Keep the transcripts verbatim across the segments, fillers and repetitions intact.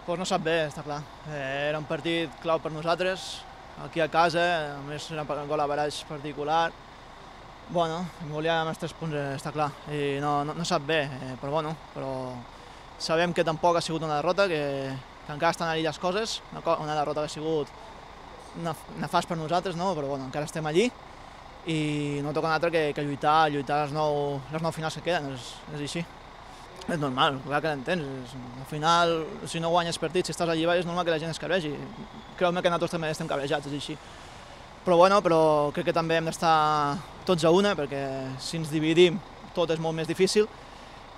Pues no sap bé, està clar. Eh, era un partit clau per nosaltres, aquí a casa, a més era un gol a baraix particular. Bueno, volíem els tres punts, està clar, i no, no, no sap bé, eh, però bueno, però sabem que tampoc ha sigut una derrota, que, que encara estan allí les coses, una, una derrota que ha sigut nefast per nosaltres, no? Però bueno, encara estem allí i no toca un altre que, que lluitar, lluitar les nou, les nou finals que queden, és, és així. És normal, clar que l'entens, al final, si no guanyes partits, si estàs allí baix, és normal que la gent es cabregi. Creu-me que nosaltres també estem cabrejats, és així. Però bueno, però crec que també hem d'estar tots a una, perquè si ens dividim tot és molt més difícil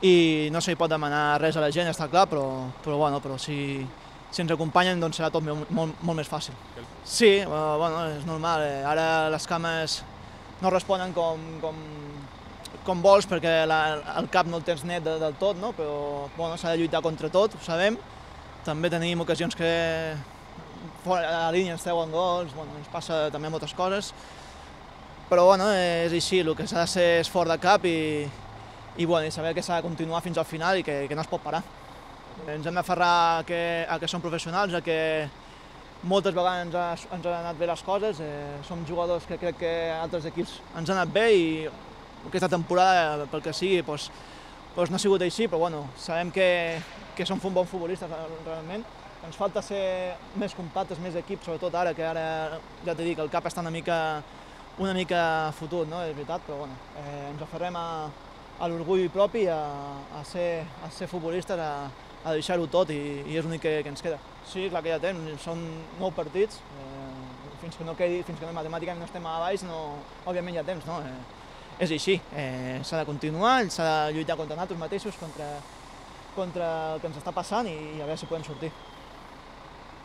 i no se li pot demanar res a la gent, està clar, però, però, bueno, però si, si ens acompanyen doncs serà tot molt, molt, molt més fàcil. Sí, bueno, és normal, ara les cames no responen com, com, com vols perquè la, el cap no el tens net de, del tot, no? Però bueno, s'ha de lluitar contra tot, ho sabem. També tenim ocasions que fora a la línia ens treuen gols, bueno, ens passa també moltes coses. Però bueno, és així, el que s'ha de ser és fort de cap i, i, bueno, i saber que s'ha de continuar fins al final i que, que no es pot parar. Ens hem d'aferrar a, que, a que som professionals, a que moltes vegades ens, ha, ens han anat bé les coses, eh, som jugadors que crec que altres equips ens han anat bé i aquesta temporada, pel que sigui, doncs, doncs no ha sigut així, però bueno, sabem que, que som bons futbolistes realment. Ens falta ser més compactes, més equip, sobretot ara, que ara ja t'he dit que el cap està una mica, una mica fotut, no? És veritat, però bueno, eh, ens aferrem a, a l'orgull propi, a, a, ser, a ser futbolistes, a, a deixar-ho tot i, i és l'únic que, que ens queda. Sí, clar que ja temps, són nou partits, eh, fins que no quedi, fins que no, matemàticament no estem a baix, no, òbviament hi ha temps, no? Eh, és així, eh, s'ha de continuar, s'ha de lluitar contra nosaltres mateixos, contra, contra el que ens està passant i, i a veure si podem sortir.